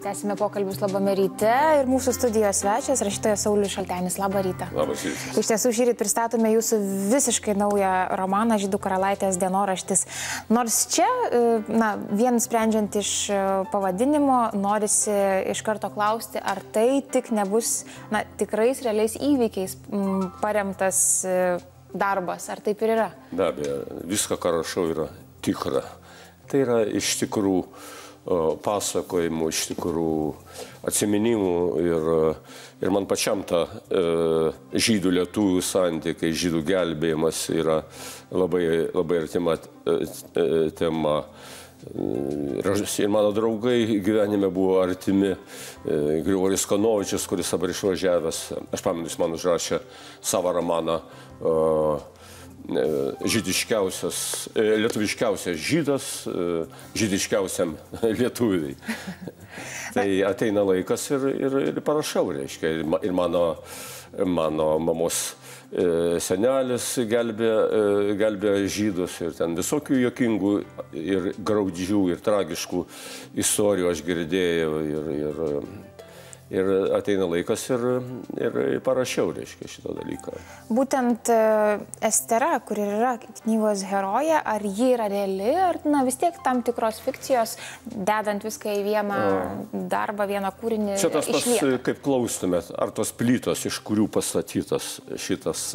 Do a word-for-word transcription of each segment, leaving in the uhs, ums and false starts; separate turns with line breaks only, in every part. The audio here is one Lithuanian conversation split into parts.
Tęsime pokalbius Labame ryte ir mūsų studijos svečias, rašytojas Saulius Šaltenis. Labą rytą.
Labas rytas.
Iš tiesų šį rytą pristatome jūsų visiškai naują romaną Žydų karalaitės dienoraštis. Nors čia, na, vien sprendžiant iš pavadinimo, norisi iš karto klausti, ar tai tik nebus, na, tikrais realiais įvykiais paremtas darbas, ar taip ir yra?
Be abejo, viską, ką rašau, yra tikra. Tai yra iš tikrųjų pasakojimų, iš tikrųjų atsiminimų ir, ir man pačiam ta e, žydų lietuvių santykiai, žydų gelbėjimas yra labai, labai artima e, tema. Ir mano draugai gyvenime buvo artimi. E, Grigorijus Kanovičius, kuris dabar išvažiavęs, aš pamenu, jis man užrašė savo romaną e, žydiškiausias, lietuviškiausias žydas, žydiškiausiam lietuviai. Tai ateina laikas ir, ir, ir parašau, reiškia. Ir mano, mano mamos senelis gelbė, gelbė žydus ir ten visokių jokingų ir graudžių ir tragiškų istorijų aš girdėjau ir, ir Ir ateina laikas ir, ir parašiau, reiškia, šitą dalyką.
Būtent Estera, kur yra knygos herojė, ar ji yra reali, ar na, vis tiek tam tikros fikcijos, dedant viską į vieną A. darbą, vieną kūrinį
čia tas
išlieka?
Tas, kaip klaustumėt, ar tos plytos, iš kurių pastatytas šitas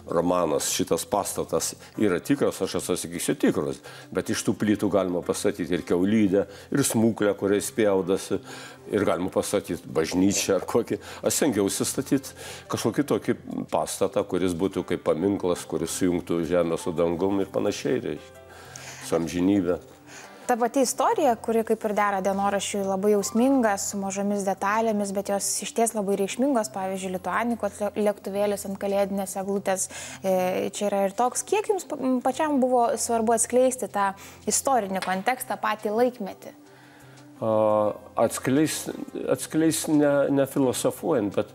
romanas, šitas pastatas yra tikras, aš atsakysiu tikras, bet iš tų plytų galima pastatyti ir kiaulydę, ir smuklę, kuriais spjaudasi, ir galima pastatyti bažnyčią ar kokį. Aš stengiausi statyti kažkokį tokį pastatą, kuris būtų kaip paminklas, kuris sujungtų žemę su dangum ir panašiai, reiškia, su amžinybė.
Ta pati istorija, kuri kaip ir dera dienoraščiui, labai jausminga, su mažomis detalėmis, bet jos išties labai reikšmingos, pavyzdžiui, Lituanikos lėktuvėlis ant kalėdinės eglutės. Čia yra ir toks. Kiek jums pačiam buvo svarbu atskleisti tą istorinį kontekstą, patį laikmetį?
Atskleis, atskleis ne, ne filosofuojant, bet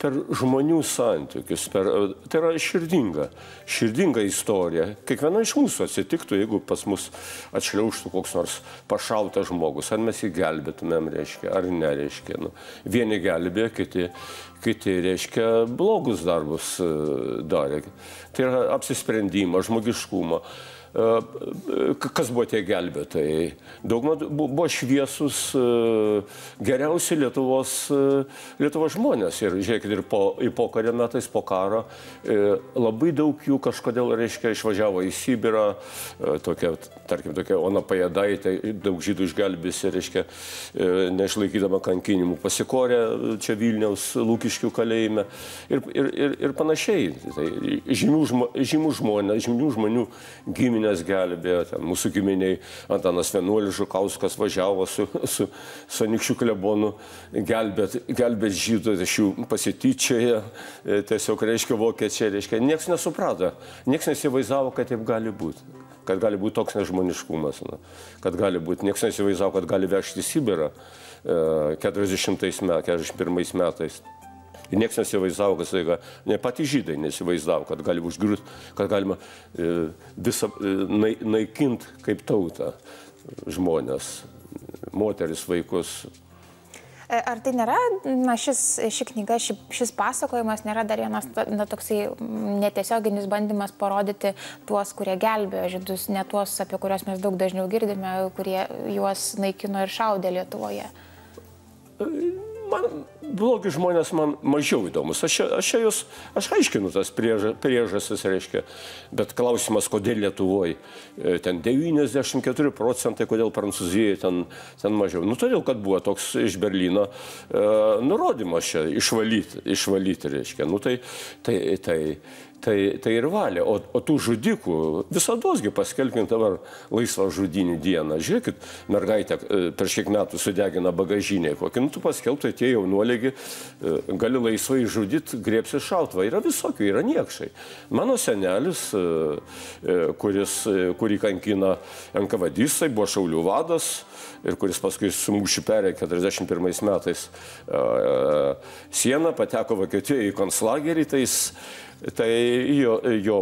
per žmonių santykius. Per, tai yra širdinga, širdinga istorija. Kiekviena iš mūsų atsitiktų, jeigu pas mus atšliaužtų koks nors pašautas žmogus. Ar mes jį gelbėtumėm, reiškia, ar nereiškia. Nu, vieni gelbė, kiti, kiti, reiškia, blogus darbus darė. Tai yra apsisprendimas, žmogiškumo. Kas buvo tie gelbėtojai? Dauguma buvo šviesus, geriausi Lietuvos, Lietuvos žmonės. Ir žiūrėkit, ir po, į pokarį metais, po karo, labai daug jų kažkodėl, reiškia, išvažiavo į Sibirą, tokia, tarkim, tokia Ona Pajėdaitė, daug žydų išgelbėsi, reiškia, neišlaikydama kankinimų, pasikorė čia Vilniaus Lukiškių kalėjime ir, ir, ir, ir panašiai. Tai žymių, žmo, žymių žmonės, žymių žmonių giminės gelbėjo, ten mūsų giminiai Antanas Vienuolis Žukauskas važiavo su, su, su Anykščių klebonu gelbėt, gelbėt žydų, iš jų pasityčioje, tiesiog, reiškia, vokiečiai, reiškia, nieks nesuprato, nieks nesivaizdavo, kad taip gali būti, kad gali būti toks nežmoniškumas, na, kad gali būti, nieks nesivaizdavo, kad gali vežti į Sibirą keturiasdešimtais metais, keturiasdešimt pirmais metais. Ir nieks nesivaizdavo, kad staiga, ne patys žydai nesivaizdavo, kad gali užgriūti, kad galima e, visą e, naikinti kaip tautą žmonės, moteris, vaikus.
Ar tai nėra, na, šis, ši knyga, ši, šis pasakojimas nėra dar vienas, na, toksai netiesioginis bandymas parodyti tuos, kurie gelbėjo žydus, ne tuos, apie kuriuos mes daug dažniau girdime, kurie juos naikino ir šaudė Lietuvoje?
Man blogi žmonės man mažiau įdomus. Aš, aš, jūs, aš aiškinu tas prieža, priežastis, reiškia, bet klausimas, kodėl Lietuvoje ten devyniasdešimt keturi procentai, kodėl Prancūzijoje ten, ten mažiau. Nu, todėl, kad buvo toks iš Berlyno e, nurodymas čia išvalyti, išvalyti, reiškia. Nu, tai, tai, tai, tai, tai ir valė. O, o tų žudikų visadosgi paskelbkime dabar laisvą žudynių dieną. Žiūrėkit, mergaitė prieš kiek metų sudegina bagažinę kokį. Nu, tu paskelbtai tie jaunuolėgi gali laisvai žudyti, griebsi šautvą. Yra visokių, yra niekšai. Mano senelis, kuris, kurį kankina enkavadistai, buvo šaulių vadas ir kuris paskui su mūšiu perė keturiasdešimt pirmais metais sieną, pateko Vokietijoje į konclagerį, tai jis Tai jo, jo,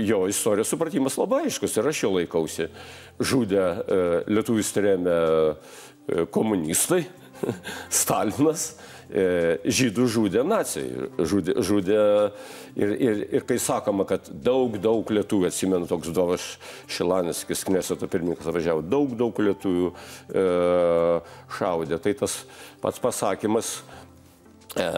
jo istorijos supratimas labai aiškus ir aš jo laikausi. Žudė lietuvius trėmė komunistai, Stalinas e, žydų žudė nacijai. Žudė, žudė ir, ir, ir kai sakoma, kad daug, daug lietuvių, atsimenu, toks Dovas Šilanis, kai Kneseto pirmininkas važiavo, daug, daug lietuvių e, šaudė. Tai tas pats pasakymas, e,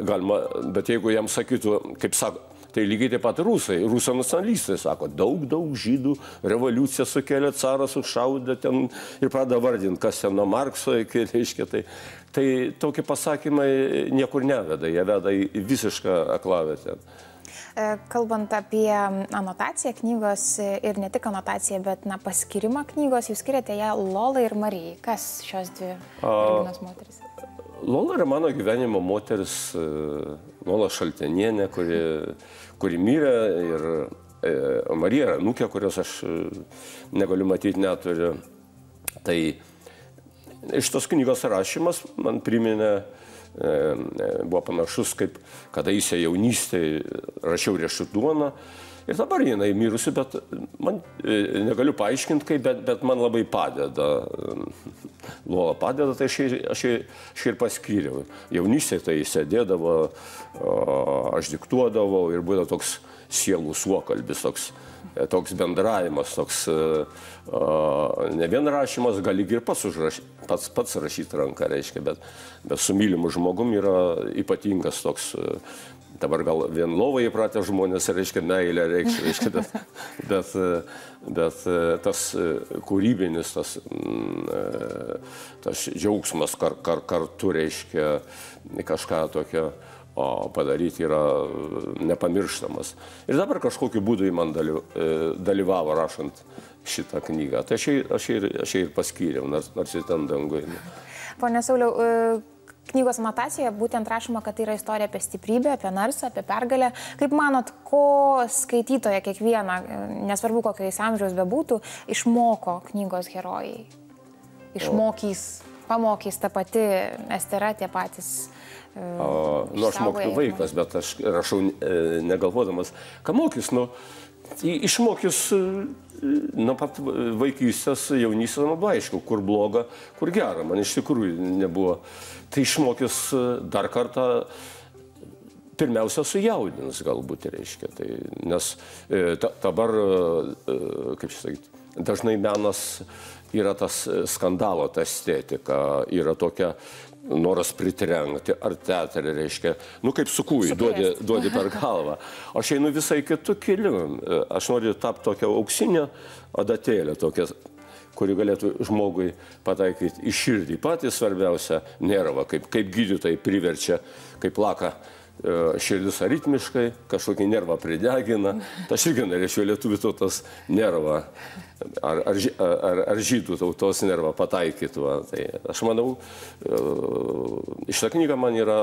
galima, bet jeigu jam sakytų, kaip sako, tai lygiai taip pat rusai, rusų nacionalistai sako, daug, daug žydų revoliuciją sukėlė, caras užšaudė ten ir pradeda vardinti, kas ten nuo Markso iki, reiškia, tai, tai tokie pasakymai niekur neveda, jie veda į visišką aklavietę.
Kalbant apie anotaciją knygos ir ne tik anotaciją, bet na, paskirimą knygos, jūs skiriate ją Lolai ir Marijai. Kas šios dvi merginos moteris?
Lola yra mano gyvenimo moteris, Lola Šaltenienė, kuri, kuri mirė, ir e, Marija yra anūkė, kurios aš negaliu matyti, neturiu. Tai iš tos knygos rašymas man priminė, e, buvo panašus, kaip kadaise jaunystėje rašiau Riešutų duoną. Ir dabar jinai mirusi, bet man e, negaliu paaiškinti, kaip, bet, bet man labai padeda. Lola padeda, tai aš, aš, aš ir paskyriau. Jaunystėje tai sėdėdavo, o, aš diktuodavau ir būdavo toks sielų suokalbis, toks, toks bendravimas, toks o, ne vien rašymas, gali ir pats, užraš, pats, pats rašyti ranką, reiškia, bet, bet su mylimu žmogum yra ypatingas toks. Dabar gal vien lovai įpratę žmonės, reiškia, meilė reikš, reiškia, bet, bet, bet tas kūrybinis, tas, tas džiaugsmas kar, kar, kartu, reiškia, kažką tokio o, padaryti yra nepamirštamas. Ir dabar kažkokiu būdu į man dalyvavo rašant šitą knygą. Tai aš ir, aš ir, aš ir paskyriau, nors, nors ir ten dangui.
Pone Sauliau, knygos anotacijoje būtent rašoma, kad tai yra istorija apie stiprybę, apie narsą, apie pergalę. Kaip manot, ko skaitytoja kiekviena, nesvarbu kokiais amžiaus bebūtų, išmoko knygos herojai? Išmokys, pamokys ta pati Estera, tie patys.
O, nu, aš mokytų vaikas, bet aš rašau negalvodamas, ką mokys, nu, išmokys nuo pat vaikystės, jaunystės, labai aišku, kur bloga, kur gera, man iš tikrųjų nebuvo. Tai išmokys dar kartą, pirmiausia, sujaudins galbūt, reiškia. Tai, nes ta, dabar, kaip čia sakyti, dažnai menas yra tas skandalo, ta estetika, yra tokia noras pritrenkti, ar teatrė, reiškia, nu kaip sukūjai, duodi, duodi per galvą. Aš einu visai kitų kelių. Aš noriu tapti tokią auksinę adatėlę, tokią, kuri galėtų žmogui pataikyti į širdį. Patys svarbiausia nervą, kaip, kaip gydytojai priverčia, kaip plaka širdis aritmiškai, kažkokį nervą pridegina. Tai aš irgi norėčiau lietuvių tautos nervą, ar, ar, ar, ar žydų tautos nervą pataikyti. Va. Tai aš manau, šitą knygą man yra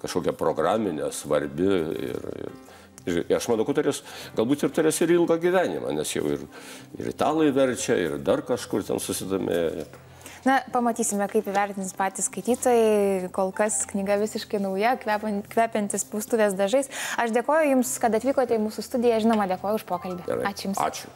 kažkokia programinė, svarbi ir, ir, ir aš manau, kad turės, galbūt ir turės ir ilgą gyvenimą, nes jau ir, ir italai verčia, ir dar kažkur ten susidomėjo.
Na, pamatysime, kaip įvertins patys skaitytojai. Kol kas knyga visiškai nauja, kvepiantis spaustuvės dažais. Aš dėkoju Jums, kad atvykote į mūsų studiją. Žinoma, dėkoju už pokalbį.
Gerai.
Ačiū Jums.
Ačiū.